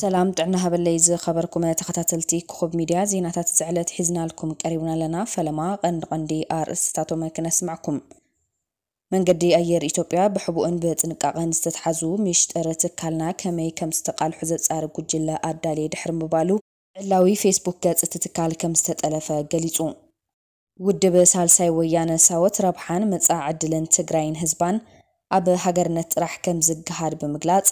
ሰላም ጥዕና ሃበለይ ዝኸበርኩም ተኸታተልቲ ክኹብ ሚድያ፣ ዜናታት ዝዕለት ሒዝናልኩም ቀሪብና ኣለና። ፈለማ ቀንዲ ቀንዲ ኣርእስትታቶም ክነስምዕኩም። መንገዲ ኣየር ኢትዮጵያ ብሕቡእን ብጥንቃቐን ዝተትሓዙ ሚሽጥር ትካልና ከመይ ከም ዝተቃልሑ ዘጻሪ ጉጅለ ኣዳልየ ድሕሪ ምባሉ፣ ዕላዊ ፌስቡክ ገጽ እቲ ትካል ከም ዝተጠለፈ ገሊጹ። ውድብ ሳልሳይ ወያነ ሳወት ረብሓን መጻኢ ዕድልን ትግራይን ህዝባን ኣብ ሃገርነት ጥራሕ ከም ዝገሃድ ብምግላጽ፣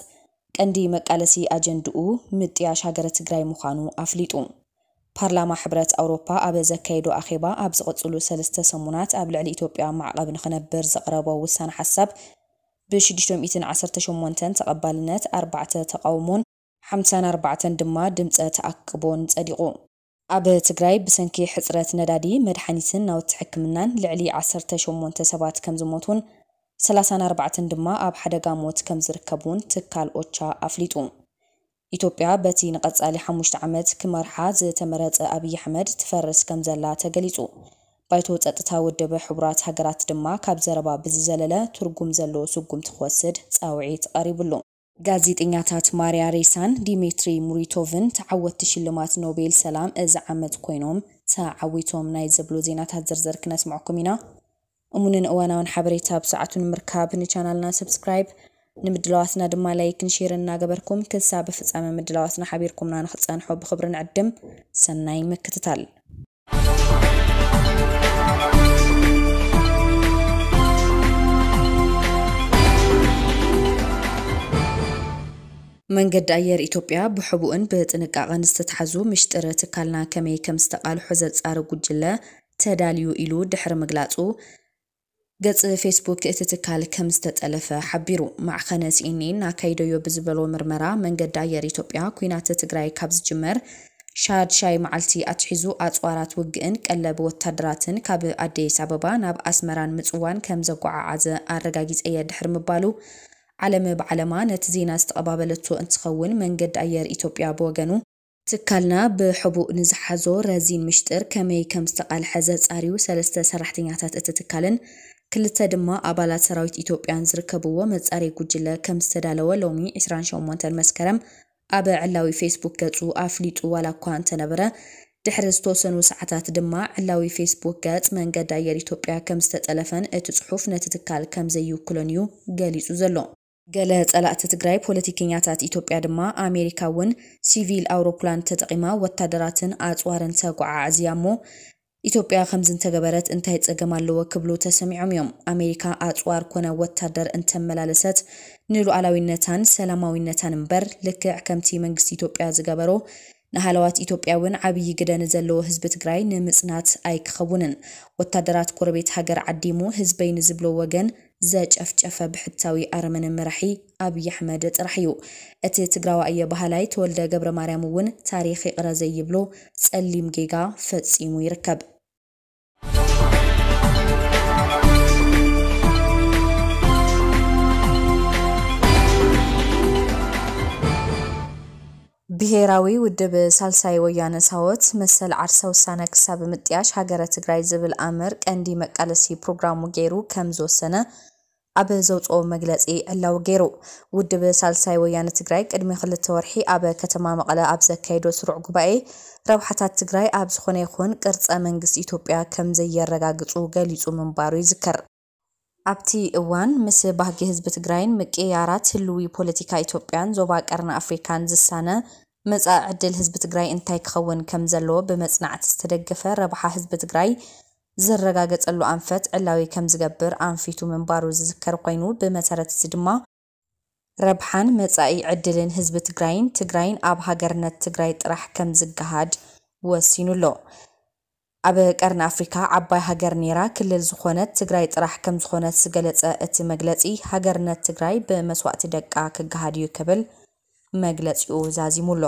ቀንዲ መቃለሲ ኣጀንድኡ ምጥያሽ ሃገረ ትግራይ ምዃኑ ኣፍሊጡ። ፓርላማ ሕብረት ኣውሮፓ ኣብ ዘካየዶ ኣኼባ፣ ኣብ ዝቕጽሉ ሰለስተ ሰሙናት ኣብ ልዕሊ ኢትዮጵያ ማዕቐብ ንኽነብር ዘቕረቦ ውሳነ ሓሳብ ብሽዱሽተ ሚእትን ዓሰርተ ሸሞንተን ተቐባልነት፣ ኣርባዕተ ተቓውሞን ሓምሳን ኣርባዕተን ድማ ድምፀ ተኣቅቦን ጸዲቑ። ኣብ ትግራይ ብሰንኪ ሕጽረት ነዳዲ፣ መድሓኒትን ናውቲ ሕክምናን ልዕሊ ዓሰርተ ሸሞንተ ሰባት ከም ዝሞቱን ሰላሳን ኣርባዕተን ድማ ኣብ ሓደጋ ሞት ከም ዝርከቡን ትካል ኦቻ ኣፍሊጡ። ኢትዮጵያ በቲ ንቐጻሊ ሓሙሽተ ዓመት ክመርሓ ዝተመረጸ ኣብይ ኣሕመድ ትፈርስ ከም ዘላ ተገሊጹ። ባይቶ ጸጥታ ውድብ ሕቡራት ሃገራት ድማ ካብ ዘረባ ብዝዘለለ ትርጉም ዘለዎ ስጉምቲ ክወስድ ጻውዒት ቀሪብሉ። ጋዜጠኛታት ማርያ ሬሳን ዲሜትሪ ሙሪቶቭን ተዓወትቲ ሽልማት ኖቤል ሰላም እዚ ዓመት ኮይኖም ተዓዊቶም ናይ ዝብሉ ዜናታት ዝርዝር ክነስምዐኩም ኢና። እሙንን እዋናውን ሓበሬታ ብሰዓቱ ንምርካብ ንቻናልና ሰብስክራይብ፣ ንምድላዋትና ድማ ላይክን ሼርን እናገበርኩም ክሳብ ፍጻመ ምድላዋትና ሓቢርኩምና ንኽትጸንሑ ብኽብሪ ንዕድም። ሰናይ ምክትታል። መንገዲ ኣየር ኢትዮጵያ ብሕቡእን ብጥንቃቐን ዝተትሓዙ ምሽጥር ትካልና ከመይ ከም ዝተቃልሑ ዘጻሪ ጉጅለ ተዳልዩ ኢሉ ድሕሪ ምግላጹ፣ ገጽ ፌስቡክ እቲ ትካል ከም ዝተጠለፈ ሓቢሩ። ማዕኸነ ሲኤንኤን ኣካይደዮ ብዝበሎ ምርመራ፣ መንገዲ ኣየር ኢትዮጵያ ኲናት ትግራይ ካብ ዝጅመር ሻድሻይ መዓልቲ ኣትሒዙ ኣጽዋራት ውግእን ቀለብ ወታደራትን ካብ ኣዲስ ኣበባ ናብ ኣስመራን ምጽዋን ከም ዘጓዓዓዘ ኣረጋጊጸ እየ ድሕሪ ምባሉ፣ ዓለም ብዓለማ ነቲ ዜና ዝተቐባበለቶ እንትኸውን፣ መንገዲ ኣየር ኢትዮጵያ ብወገኑ፣ ትካልና ብሕቡእ ንዝሓዞ ረዚን ምሽጥር ከመይ ከም ዝተቃልሐ ዘጻርዩ ሰለስተ ሰራሕተኛታት እቲ ትካልን ክልተ ድማ ኣባላት ሰራዊት ኢትዮጵያን ዝርከብዎ መጻረይ ጉጅለ ከም ዝተዳለወ ሎሚ ዕስራን ሸሞንተን መስከረም ኣብ ዕላዊ ፌስቡክ ገጹ ኣፍሊጡ ዋላ እኳ እንተነበረ፣ ድሕሪ ዝተወሰኑ ሰዓታት ድማ ዕላዊ ፌስቡክ ገጽ መንገዲ ኣየር ኢትዮጵያ ከም ዝተጠለፈን እቲ ጽሑፍ ነቲ ትካል ከም ዘይውክሎን እዩ ገሊጹ ዘሎ። ገለ ጸላእቲ ትግራይ ፖለቲከኛታት ኢትዮጵያ ድማ፣ ኣሜሪካ እውን ሲቪል ኣውሮፕላን ተጠቒማ ወታደራትን ኣጽዋርን ተጓዓዕዝያ እሞ፣ ኢትዮጵያ ከምዚ እንተገበረት እንታይ ጸገም ኣለዎ ክብሉ ተሰሚዖም እዮም። ኣሜሪካ ኣጽዋር ኮነ ወታደር እንተመላለሰት ንሉዓላዊነታን ሰላማዊነታን እምበር፣ ልክዕ ከምቲ መንግስቲ ኢትዮጵያ ዝገበሮ፣ ንሃለዋት ኢትዮጵያ እውን ዓብዪ ግደ ንዘለዎ ህዝቢ ትግራይ ንምጽናት ኣይክኸውንን። ወታደራት ጎረቤት ሃገር ዓዲሙ ህዝበይ ንዝብሎ ወገን ዘጨፍጨፈ ብሕታዊ ኣረመነ መራሒ ኣብይ ኣሕመድ ጥራሕ እዩ። እቲ ትግራዋይ እየ በሃላይ ተወልደ ገብረ ማርያም እውን ታሪኽ ይቕረ ዘይብሎ ጸሊም ጌጋ ፈጺሙ ይርከብ። ብሄራዊ ውድብ ሳልሳይ ወያነ ሳወት መሰል ዓርሰ ውሳነ ክሳብ ምጥያሽ ሃገረ ትግራይ ዝብል ኣምር ቀንዲ መቃለሲ ፕሮግራሙ ገይሩ ከም ዝወሰነ ኣብ ዘውፅኦ መግለፂ ዕላዊ ገይሩ። ውድብ ሳልሳይ ወያነ ትግራይ ቅድሚ ክልተ ወርሒ ኣብ ከተማ መቐለ ኣብ ዘካየዶ ስሩዕ ጉባኤ፣ ረብሓታት ትግራይ ኣብ ዝኾነ ይኹን ቅርፀ መንግስቲ ኢትዮጵያ ከም ዘየረጋግፁ ገሊፁ ምንባሩ ይዝከር። ኣብቲ እዋን፣ ምስ ባህጊ ህዝቢ ትግራይን ምቅይያራት ህልዊ ፖለቲካ ኢትዮጵያን ዞባ ቀርኒ ኣፍሪካን ዝሳነ መጻኢ ዕድል ህዝቢ ትግራይ እንታይ ክኸውን ከም ዘለዎ ብመጽናዕቲ ዝተደገፈ፣ ረብሓ ህዝቢ ትግራይ ዝረጋገጸሉ ኣንፈት ዕላዊ ከም ዝገብር ኣንፊቱ ምንባሩ ዝዝከር ኮይኑ፣ ብመሰረት እዚ ድማ ረብሓን መጻኢ ዕድልን ህዝቢ ትግራይን ትግራይን ኣብ ሃገርነት ትግራይ ጥራሕ ከም ዝገሃድ ወሲኑ ኣሎ። ኣብ ቀርኒ ኣፍሪካ ዓባይ ሃገር ነይራ ክልል ዝኾነት ትግራይ ጥራሕ ከም ዝኾነት ዝገለጸ እቲ መግለጺ፣ ሃገርነት ትግራይ ብመስዋእቲ ደቃ ክገሃድ እዩ ክብል መግለጺኡ ዛዚሙ ኣሎ።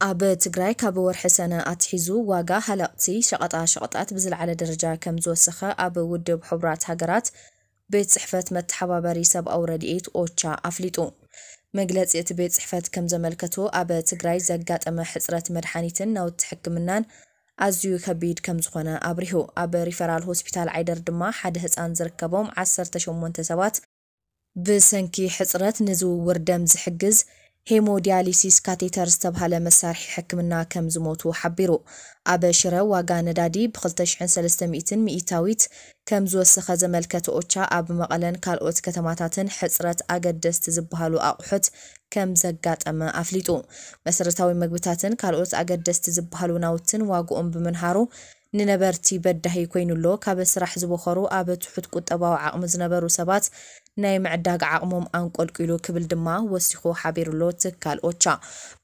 ኣብ ትግራይ ካብ ወርሒ ሰነ ኣትሒዙ ዋጋ ሃለቕቲ ሸቐጣ ሸቐጣት ብዝለዓለ ደረጃ ከም ዝወሰኸ ኣብ ውድብ ሕቡራት ሃገራት ቤት ጽሕፈት መተሓባበሪ ሰብኣዊ ረድኤት ኦቻ ኣፍሊጡ። መግለጺ እቲ ቤት ጽሕፈት ከም ዘመልከቶ፣ ኣብ ትግራይ ዘጋጠመ ሕጽረት መድሓኒትን ናውቲ ሕክምናን ኣዝዩ ከቢድ ከም ዝኾነ ኣብሪሁ። ኣብ ሪፈራል ሆስፒታል ዓይደር ድማ ሓደ ህጻን ዝርከቦም ዓሰርተ ሸሞንተ ሰባት ብሰንኪ ሕጽረት ንዝውውር ደም ዝሕግዝ ሄሞዲያሊሲስ ካቴተር ዝተብሃለ መሳርሒ ሕክምና ከም ዝሞቱ ሓቢሩ። ኣብ ሽረ ዋጋ ነዳዲ ብ ክልተ ሽሕን ሰለስተ ሚእትን ሚእታዊት ከም ዝወሰኸ ዘመልከተ ኦቻ፣ ኣብ መቐለን ካልኦት ከተማታትን ሕጽረት ኣገደስቲ ዝበሃሉ ኣቑሑት ከም ዘጋጠመ ኣፍሊጡ። መሰረታዊ መግብታትን ካልኦት ኣገደስቲ ዝበሃሉ ናውትን ዋግኦም ብምንሃሩ ንነበርቲ በዳሂ ኮይኑ ኣሎ። ካብ ስራሕ ዝበኸሩ ኣብ ትሑት ቁጠባዊ ዓቕሚ ዝነበሩ ሰባት ናይ ምዕዳግ ዓቕሞም ኣንቆልቂሉ ክብል ድማ ወሲኹ ሓቢሩሎ ትካል ኦቻ።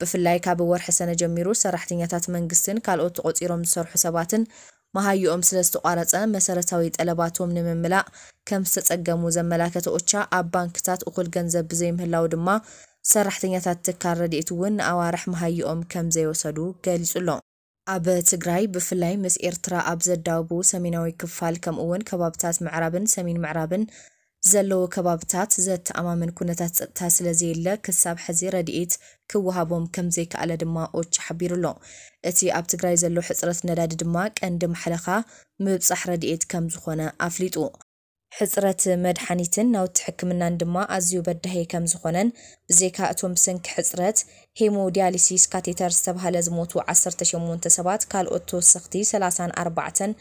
ብፍላይ ካብ ወርሒ ሰነ ጀሚሩ ሰራሕተኛታት መንግስትን ካልኦት ተቖጺሮም ዝሰርሑ ሰባትን መሃይኦም ስለ ዝተቋረጸ መሰረታዊ ጠለባቶም ንምምላእ ከም ዝተጸገሙ ዘመላከተ ኦቻ፣ ኣብ ባንክታት እኹል ገንዘብ ብዘይምህላው ድማ ሰራሕተኛታት ትካል ረድኤት እውን ንኣዋርሕ መሃይኦም ከም ዘይወሰዱ ገሊጹ ኣሎ። ኣብ ትግራይ ብፍላይ ምስ ኤርትራ ኣብ ዘዳውቡ ሰሜናዊ ክፋል ከምኡ እውን ከባብታት ምዕራብን ሰሜን ምዕራብን ዘለዉ ከባብታት ዘተኣማምን ኩነታት ጸጥታ ስለ ዘየለ ክሳብ ሕዚ ረድኤት ክወሃቦም ከም ዘይከኣለ ድማ ኦቻ ሓቢሩ ኣሎ። እቲ ኣብ ትግራይ ዘሎ ሕጽረት ነዳዲ ድማ ቀንዲ ማሕለኻ ምብጻሕ ረድኤት ከም ዝኾነ ኣፍሊጡ። ሕጽረት መድሓኒትን ናውቲ ሕክምናን ድማ ኣዝዩ በዳሂ ከም ዝኾነን፣ ብዘይካ እቶም ብሰንኪ ሕጽረት ሄሞዲያሊሲስ ካቴተር ዝተባህለ ዝሞቱ ዓሰርተ ሸሞንተ ሰባት፣ ካልኦት ተወሰኽቲ ሰላሳን ኣርባዕተን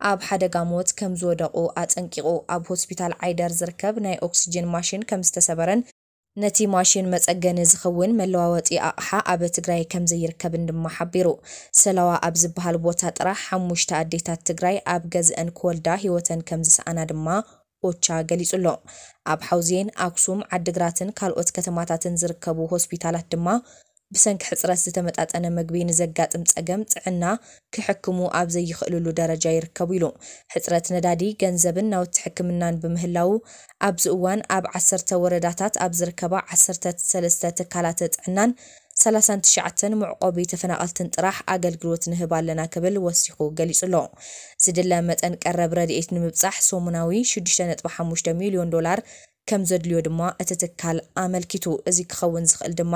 ኣብ ሓደጋ ሞት ከም ዝወደቑ ኣጠንቂቑ። ኣብ ሆስፒታል ዓይደር ዝርከብ ናይ ኦክስጅን ማሽን ከም ዝተሰበረን ነቲ ማሽን መጸገኒ ዝኸውን መለዋወጢ ኣቕሓ ኣብ ትግራይ ከም ዘይርከብን ድማ ሓቢሩ። ሰላዋ ኣብ ዝበሃል ቦታ ጥራሕ ሓሙሽተ ኣዴታት ትግራይ ኣብ ገዝአን ክወልዳ ህይወተን ከም ዝሰኣና ድማ ኦቻ ገሊጹ ኣሎ። ኣብ ሓውዜን፣ ኣክሱም፣ ዓድግራትን ካልኦት ከተማታትን ዝርከቡ ሆስፒታላት ድማ ብሰንኪ ሕጽረት ዝተመጣጠነ ምግቢ ንዘጋጥም ጸገም ጥዕና ክሕክሙ ኣብ ዘይኽእልሉ ደረጃ ይርከቡ ኢሉ። ሕጽረት ነዳዲ፣ ገንዘብን ናውቲ ሕክምናን ብምህላዉ፣ ኣብዚ እዋን ኣብ ዓሰርተ ወረዳታት ኣብ ዝርከባ ዓሰርተ ሰለስተ ትካላት ጥዕናን ሰላሳን ትሽዓተን መዕቆቢ ተፈናቐልትን ጥራሕ ኣገልግሎት ንህብ ኣለና ክብል ወሲኹ ገሊጹ ኣሎ። ዝድለ መጠን ቀረብ ረድኤት ንምብጻሕ ሰሙናዊ ሽዱሽተ ነጥቢ ሓሙሽተ ሚልዮን ዶላር ከም ዘድልዮ ድማ እቲ ትካል ኣመልኪቱ። እዚ ክኸውን ዝኽእል ድማ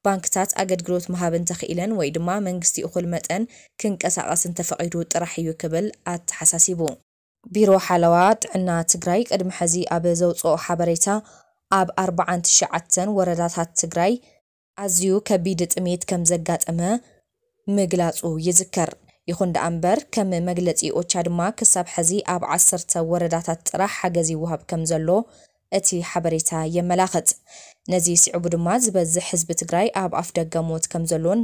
ባንክታት ኣገልግሎት ምሃብ እንተኽኢለን ወይ ድማ መንግስቲ እኹል መጠን ክንቀሳቐስ እንተፈቒዱ ጥራሕ እዩ ክብል ኣተሓሳሲቡ። ቢሮ ሓለዋ ጥዕና ትግራይ ቅድሚ ሕዚ ኣብ ዘውፅኦ ሓበሬታ ኣብ ኣርባዓን ትሽዓተን ወረዳታት ትግራይ ኣዝዩ ከቢድ ጥሜት ከም ዘጋጠመ ምግላፁ ይዝከር። ይኹን ደኣ እምበር ከም መግለፂ ኦቻ ድማ ክሳብ ሕዚ ኣብ ዓሰርተ ወረዳታት ጥራሕ ሓገዝ ይወሃብ ከም ዘሎ እቲ ሓበሬታ የመላኽት። ነዚ ስዒቡ ድማ ዝበዝሕ ህዝቢ ትግራይ ኣብ ኣፍ ደገ ሞት ከም ዘሎን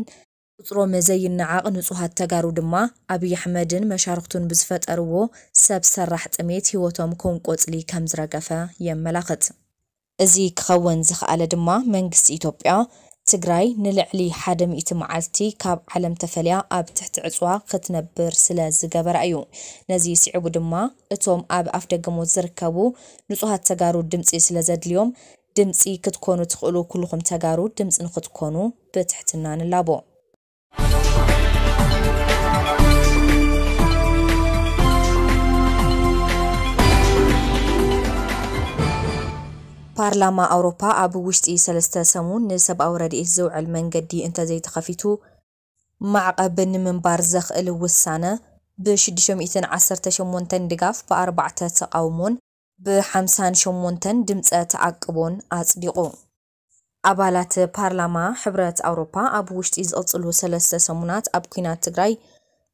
ቁፅሮም ዘይነዓቕ ንፁሃት ተጋሩ ድማ ኣብይ ኣሕመድን መሻርኽቱን ብዝፈጠርዎ ሰብ ሰራሕ ጥሜት ህይወቶም ከም ቆፅሊ ከም ዝረገፈ የመላኽት። እዚ ክኸውን ዝኸኣለ ድማ መንግስቲ ኢትዮጵያ ትግራይ ንልዕሊ ሓደ ሚእቲ መዓልቲ ካብ ዓለም ተፈልያ ኣብ ትሕቲ ዕፅዋ ክትነብር ስለ ዝገበራ እዩ። ነዚ ስዒቡ ድማ እቶም ኣብ ኣፍ ደገ ሞት ዝርከቡ ንፁሃት ተጋሩ ድምፂ ስለ ዘድልዮም ድምፂ ክትኮኑ ትኽእሉ ኩልኹም ተጋሩ ድምፂ ንክትኮኑ ብትሕትና ንላቦ። ፓርላማ ኣውሮፓ ኣብ ውሽጢ ሰለስተ ሰሙን ንሰብኣዊ ረድኤት ዝውዕል መንገዲ እንተዘይተኸፊቱ ማዕቐብ ንምንባር ዘኽእል ውሳነ ብ ሽዱሽተ ሚእትን ዓሰርተ ሸሞንተን ድጋፍ ብ ኣርባዕተ ተቓውሞን ብ ሓምሳን ሸሞንተን ድምፀ ተኣቅቦን ኣፅዲቑ። ኣባላት ፓርላማ ሕብረት ኣውሮፓ ኣብ ውሽጢ ዝቕፅሉ ሰለስተ ሰሙናት ኣብ ኲናት ትግራይ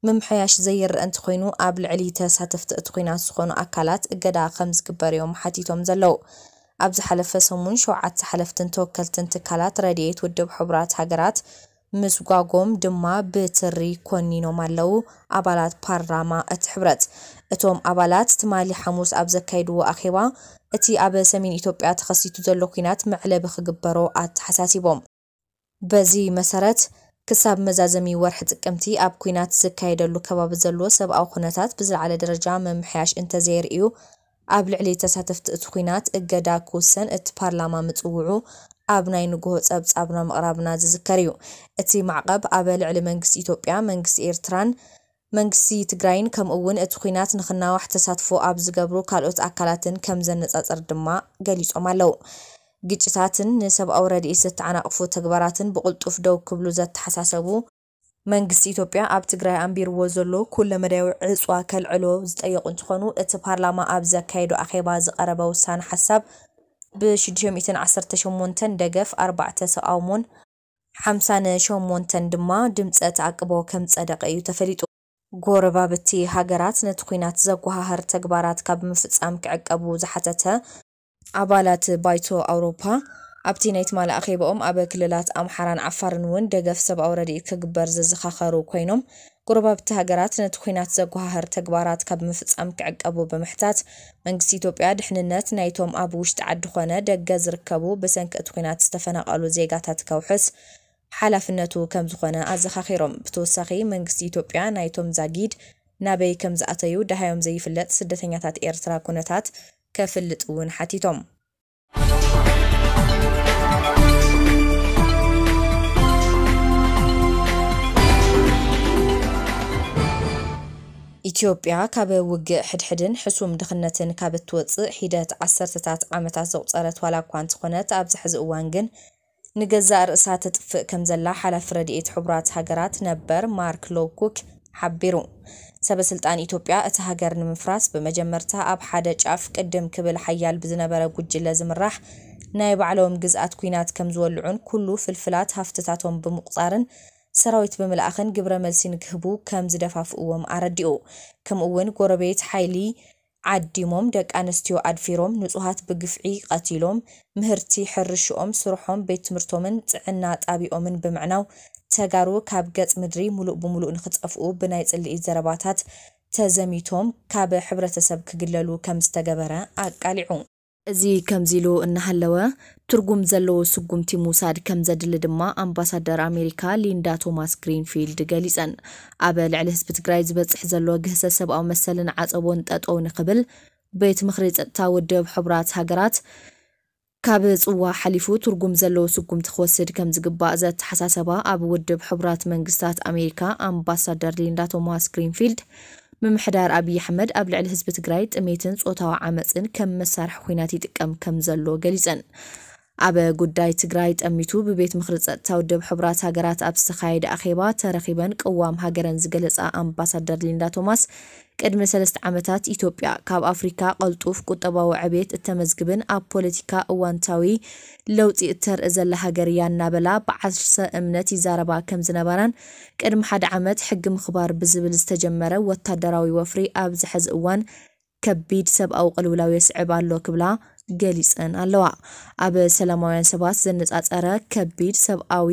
ምምሕያሽ ዘይረአ እንተኾይኑ ኣብ ልዕሊ ተሳተፍቲ እቲ ኲናት ዝኾኑ ኣካላት እገዳ ከም ዝግበር እዮም ሓቲቶም ዘለዉ። ኣብ ዝሓለፈ ሰሙን ሸውዓተ ሓለፍትን ተወከልትን ትካላት ረድኤት ውድብ ሕቡራት ሃገራት ምስጓጎም ድማ ብትሪ ኮኒኖም ኣለዉ ኣባላት ፓርላማ እቲ ሕብረት። እቶም ኣባላት ትማሊ ሓሙስ ኣብ ዘካየድዎ ኣኼባ እቲ ኣብ ሰሜን ኢትዮጵያ ተኸሲቱ ዘሎ ኲናት መዕለቢ ክግበሮ ኣተሓሳሲቦም። በዚ መሰረት ክሳብ መዛዘሚ ወርሒ ጥቅምቲ ኣብ ኲናት ዝካየደሉ ከባቢ ዘሎ ሰብኣዊ ኩነታት ብዝለዓለ ደረጃ ምምሕያሽ እንተዘየርእዩ ኣብ ልዕሊ ተሳተፍቲ እቲ ኲናት እገዳ ክውሰን እቲ ፓርላማ ምጽውዑ ኣብ ናይ ንግሆ ጸብጻብና ምቕራብና ዝዝከር እዩ። እቲ ማዕቐብ ኣብ ልዕሊ መንግስቲ ኢትዮጵያ፣ መንግስቲ ኤርትራን መንግስቲ ትግራይን ከምኡ እውን እቲ ኲናት ንኽናዋሕ ተሳትፎ ኣብ ዝገብሩ ካልኦት ኣካላትን ከም ዘነጻጸር ድማ ገሊጾም ኣለዉ። ግጭታትን ንሰብኣዊ ረድኤት ዘተዓናቕፉ ተግባራትን ብቕልጡፍ ደው ክብሉ ዘተሓሳሰቡ መንግስቲ ኢትዮጵያ ኣብ ትግራይ ኣንቢርዎ ዘሎ ኩለመዳያዊ ዕፅዋ ከልዕሎ ዝጠየቁ እንትኾኑ፣ እቲ ፓርላማ ኣብ ዘካየዶ ኣኼባ ዝቐረበ ውሳነ ሓሳብ ብ ሽዱሽተ ሚእትን ዓሰርተ ሸሞንተን ደገፍ፣ ኣርባዕተ ተቓውሞን ሓምሳን ሸሞንተን ድማ ድምፀ ተኣቅቦ ከም ጸደቐ እዩ ተፈሊጡ። ጎረባብቲ ሃገራት ነቲ ኲናት ዘጓሃህር ተግባራት ካብ ምፍጻም ክዕቀቡ ዝሓተተ ኣባላት ባይቶ ኣውሮፓ፣ ኣብቲ ናይ ትማሊ ኣኼባኦም ኣብ ክልላት ኣምሓራን ዓፋርን እውን ደገፍ ሰብኣዊ ረድኤት ክግበር ዘዘኻኸሩ ኮይኖም፣ ጎረባብቲ ሃገራት ነቲ ኲናት ዘጓሃህር ተግባራት ካብ ምፍጻም ክዕቀቡ ብምሕታት፣ መንግስቲ ኢትዮጵያ ድሕንነት ናይቶም ኣብ ውሽጢ ዓዲ ኾነ ደገ ዝርከቡ ብሰንኪ እቲ ኲናት ዝተፈናቐሉ ዜጋታት ከውሕስ ሓላፍነቱ ከም ዝኾነ ኣዘኻኺሮም። ብተወሳኺ መንግስቲ ኢትዮጵያ ናይቶም ዛጊድ ናበይ ከም ዝኣተዩ ደሃዮም ዘይፍለጥ ስደተኛታት ኤርትራ ኩነታት ከፍልጥ እውን ሓቲቶም። ኢትዮጵያ ካብ ውግእ ሕድሕድን ሕሱም ድኽነትን ካብ እትወጽእ ሒደት ዓሰርተታት ዓመታት ዘቑጸረት ዋላ እኳ እንተኾነት፣ ኣብዚ ሕዚ እዋን ግን ንገዛእ ርእሳ ተጥፍእ ከም ዘላ ሓላፊ ረድኤት ሕቡራት ሃገራት ነበር ማርክ ሎውኩክ ሓቢሩ። ሰበ ስልጣን ኢትዮጵያ እቲ ሃገር ንምፍራስ ብመጀመርታ ኣብ ሓደ ጫፍ ቅድም ክብል ሓያል ብዝነበረ ጉጅለ ዝምራሕ ናይ ባዕሎም ግዝኣት ኲናት ከም ዝወልዑን ኩሉ ፍልፍላት ሃፍትታቶም ብምቑጻርን ሰራዊት ብምልኣኽን ግብረ መልሲ ንክህቡ ከም ዝደፋፍእዎም ኣረዲኡ። ከምኡ እውን ጎረቤት ሓይሊ ዓዲሞም፣ ደቂ ኣንስትዮ ኣድፊሮም፣ ንጹሃት ብግፍዒ ቀቲሎም፣ ምህርቲ ሕርሽኦም፣ ስርሖም፣ ቤት ትምህርቶምን ጥዕና ጣቢኦምን ብምዕናው ተጋሩ ካብ ገጽ ምድሪ ሙሉእ ብሙሉእ ንክጠፍኡ ብናይ ጽልኢ ዘረባታት ተዘሚቶም ካብ ሕብረተሰብ ክግለሉ ከም ዝተገበረ ኣቃሊዑ። እዚ ከምዚ ኢሉ እናሃለወ፣ ትርጉም ዘለዎ ስጉምቲ ምውሳድ ከም ዘድሊ ድማ ኣምባሳደር ኣሜሪካ ሊንዳ ቶማስ ግሪንፊልድ ገሊጸን። ኣብ ልዕሊ ህዝቢ ትግራይ ዝበጽሕ ዘሎ ግህሰት ሰብኣዊ መሰልን ዓጸቦን ጠጠው ንኽብል ቤት ምኽሪ ጸጥታ ውድብ ሕቡራት ሃገራት ካብ ጽዋ ሓሊፉ ትርጉም ዘለዎ ስጉምቲ ክወስድ ከም ዝግባእ ዘተሓሳሰባ ኣብ ውድብ ሕቡራት መንግስታት ኣሜሪካ ኣምባሳደር ሊንዳ ቶማስ ግሪንፊልድ፣ ምምሕዳር ኣብይ ኣሕመድ ኣብ ልዕሊ ህዝቢ ትግራይ ጥሜትን ጾታዊ ዓመጽን ከም መሳርሒ ኲናት ይጥቀም ከም ዘሎ ገሊጸን። ኣብ ጉዳይ ትግራይ ጠሚቱ ብቤት ምኽሪ ጸጥታ ውድብ ሕቡራት ሃገራት ኣብ ዝተኻየደ ኣኼባ ተረኺበን ቅዋም ሃገረን ዝገለጻ ኣምባሳደር ሊንዳ ቶማስ፣ ቅድሚ ሰለስተ ዓመታት ኢትዮጵያ ካብ ኣፍሪካ ቀልጡፍ ቁጠባዊ ዕቤት እተመዝግብን ኣብ ፖለቲካ እዋንታዊ ለውጢ እተርኢ ዘላ ሃገር እያ እናበላ ብዓርሰ እምነት ይዛረባ ከም ዝነበራን፣ ቅድሚ ሓደ ዓመት ሕጊ ምኽባር ብዝብል ዝተጀመረ ወታደራዊ ወፍሪ ኣብዚ ሕዚ እዋን ከቢድ ሰብኣዊ ቅልውላው የስዕብ ኣሎ ክብላ ገሊጸን ኣለዋ። ኣብ ሰላማውያን ሰባት ዘነጻጸረ ከቢድ ሰብኣዊ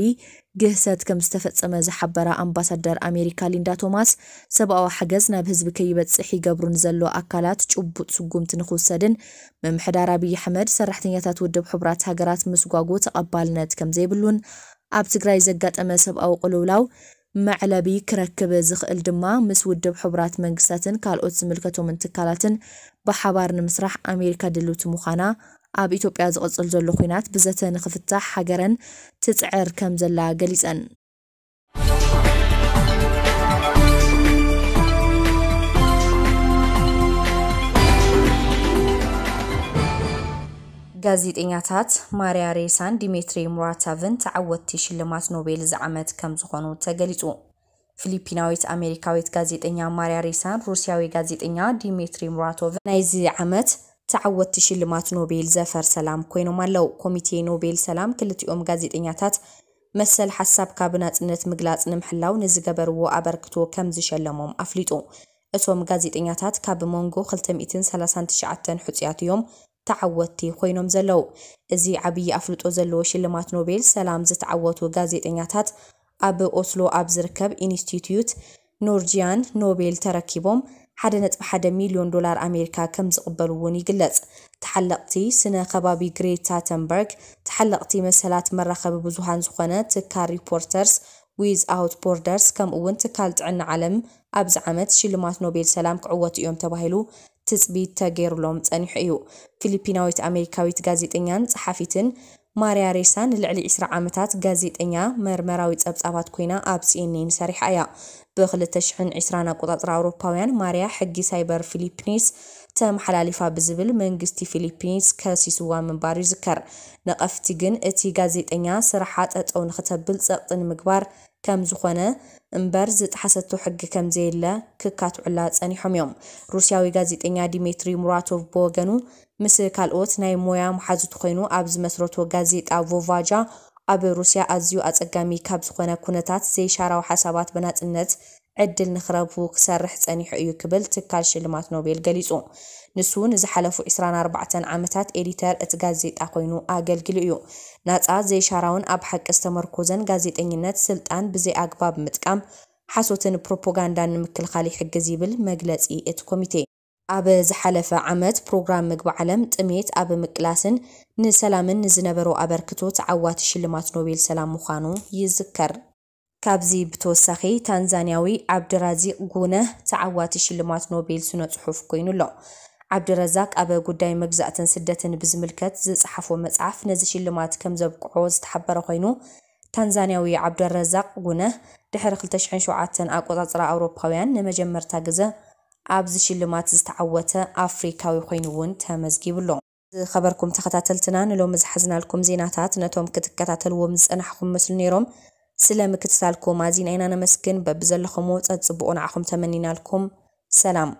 ግህሰት ከም ዝተፈጸመ ዝሓበራ ኣምባሳደር ኣሜሪካ ሊንዳ ቶማስ፣ ሰብኣዊ ሓገዝ ናብ ህዝቢ ከይበጽሕ ይገብሩ ንዘሎ ኣካላት ጭቡጥ ስጉምቲ ንክውሰድን ምምሕዳር ኣብይ ኣሕመድ ሰራሕተኛታት ውድብ ሕቡራት ሃገራት ምስጓጉ ተቐባልነት ከም ዘይብሉን ኣብ ትግራይ ዘጋጠመ ሰብኣዊ ቅልውላው መዕለቢ ክረክብ ዝኽእል ድማ ምስ ውድብ ሕቡራት መንግስታትን ካልኦት ዝምልከቶምን ትካላትን ብሓባር ንምስራሕ ኣሜሪካ ድልውቲ ምዃና፣ ኣብ ኢትዮጵያ ዝቕጽል ዘሎ ኲናት ብዘተ ንኽፍታሕ ሃገረን ትጽዕር ከም ዘላ ገሊጸን። ጋዜጠኛታት ማርያ ሬሳን ዲሜትሪ ሙራቶቭን ተዓወትቲ ሽልማት ኖቤል እዚ ዓመት ከም ዝኾኑ ተገሊጹ። ፊሊፒናዊት ኣሜሪካዊት ጋዜጠኛ ማርያ ሬሳን ሩስያዊ ጋዜጠኛ ዲሜትሪ ሙራቶቭን ናይዚ ዓመት ተዓወትቲ ሽልማት ኖቤል ዘፈር ሰላም ኮይኖም ኣለዉ። ኮሚቴ ኖቤል ሰላም ክልቲኦም ጋዜጠኛታት መሰል ሓሳብካ ብናጽነት ምግላጽ ንምሕላው ንዝገበርዎ ኣበርክቶ ከም ዝሸለሞም ኣፍሊጡ። እቶም ጋዜጠኛታት ካብ መንጎ ክልተ ሚእትን ሰላሳን ትሽዓተን ሕጹያት እዮም ተዓወትቲ ኮይኖም ዘለዉ። እዚ ዓብዪ ኣፍልጦ ዘለዎ ሽልማት ኖቤል ሰላም ዝተዓወቱ ጋዜጠኛታት ኣብ ኦስሎ ኣብ ዝርከብ ኢንስቲትዩት ኖርጂያን ኖቤል ተረኪቦም ሓደ ነጥቢ ሓደ ሚልዮን ዶላር ኣሜሪካ ከም ዝቕበሉ እውን ይግለጽ። ተሓለቕቲ ስነ ከባቢ ግሬታ ተንበርግ፣ ተሓለቕቲ መሰላት መራኸቢ ብዙሃን ዝኾነ ትካል ሪፖርተርስ ዊዝ ኣውት ቦርደርስ፣ ከምኡ እውን ትካል ጥዕና ዓለም ኣብዚ ዓመት ሽልማት ኖቤል ሰላም ክዕወቱ እዮም ተባሂሉ ትጽቢት ተገይሩሎም ጸኒሑ እዩ። ፊሊፒናዊት ኣሜሪካዊት ጋዜጠኛን ጸሓፊትን ማርያ ሬሳ ንልዕሊ ዕስራ ዓመታት ጋዜጠኛ መርመራዊ ጸብጻባት ኮይና ኣብ ሲኤንኤን ሰሪሓ እያ። ብ2020 ኣቆጻጽራ ኣውሮፓውያን ማርያ ሕጊ ሳይበር ፊሊፒንስ ተመሓላሊፋ ብዝብል መንግስቲ ፊሊፒንስ ከሲስዋ ምንባሩ ይዝከር። ነቐፍቲ ግን እቲ ጋዜጠኛ ስራሓ ጠጠው ንክተብል ጸቕጢ ንምግባር ከም ዝኾነ እምበር ዝጠሓሰቶ ሕጊ ከም ዘየለ ክካትዑላ ጸኒሖም እዮም። ሩስያዊ ጋዜጠኛ ዲሜትሪ ሙራቶቭ ብወገኑ ምስ ካልኦት ናይ ሞያ መሓዙቱ ኮይኑ ኣብ ዝመስረቶ ጋዜጣ ቮቫጃ ኣብ ሩስያ ኣዝዩ ኣጸጋሚ ካብ ዝኾነ ኩነታት ዘይሻራዊ ሓሳባት ብናጽነት ዕድል ንክረቡ ክሰርሕ ጸኒሑ እዩ ክብል ትካል ሽልማት ኖቤል ገሊጹ። ንሱ ንዝሓለፉ 24 ዓመታት ኤዲተር እቲ ጋዜጣ ኮይኑ ኣገልጊሉ እዩ። ናጻ ዘይሻራውን ኣብ ሓቂ ዝተመርኮዘን ጋዜጠኝነት ስልጣን ብዘይ ኣግባብ ምጥቃም ሓሶትን ፕሮፓጋንዳን ንምክልኻል ይሕግዝ ይብል መግለጺ እቲ ኮሚቴ። ኣብ ዝሓለፈ ዓመት ፕሮግራም ምግቢ ዓለም ጥሜት ኣብ ምቅላስን ንሰላምን ንዝነበሮ ኣበርክቶ ተዓዋቲ ሽልማት ኖቤል ሰላም ምዃኑ ይዝከር። ካብዚ ብተወሳኺ ታንዛንያዊ ዓብድራዚቅ ጉነህ ተዓዋቲ ሽልማት ኖቤል ስነ ጽሑፍ ኮይኑ ኣሎ። ዓብድረዛቅ ኣብ ጉዳይ መግዛእትን ስደትን ብዝምልከት ዝጸሓፎ መጽሓፍ ነዚ ሽልማት ከም ዘብቅዖ ዝተሓበረ ኮይኑ፣ ታንዛንያዊ ዓብደረዛቅ ጉነህ ድሕሪ 2007 ኣቆጻጽራ ኣውሮፓውያን ንመጀመርታ ግዘ ኣብዚ ሽልማት ዝተዓወተ ኣፍሪካዊ ኮይኑ እውን ተመዝጊቡ ኣሎ። ዝኸበርኩም ተኸታተልትና፣ ንሎሚ ዝሓዝናልኩም ዜናታት ነቶም ክትከታተልዎም ዝጸናሕኩም መስሉ ነይሮም። ስለ ምክትታልኩም ኣዚና ኢና ነመስግን። በብዘለኹምዎ ጸጽብቑ ንዓኹም ተመኒናልኩም። ሰላም።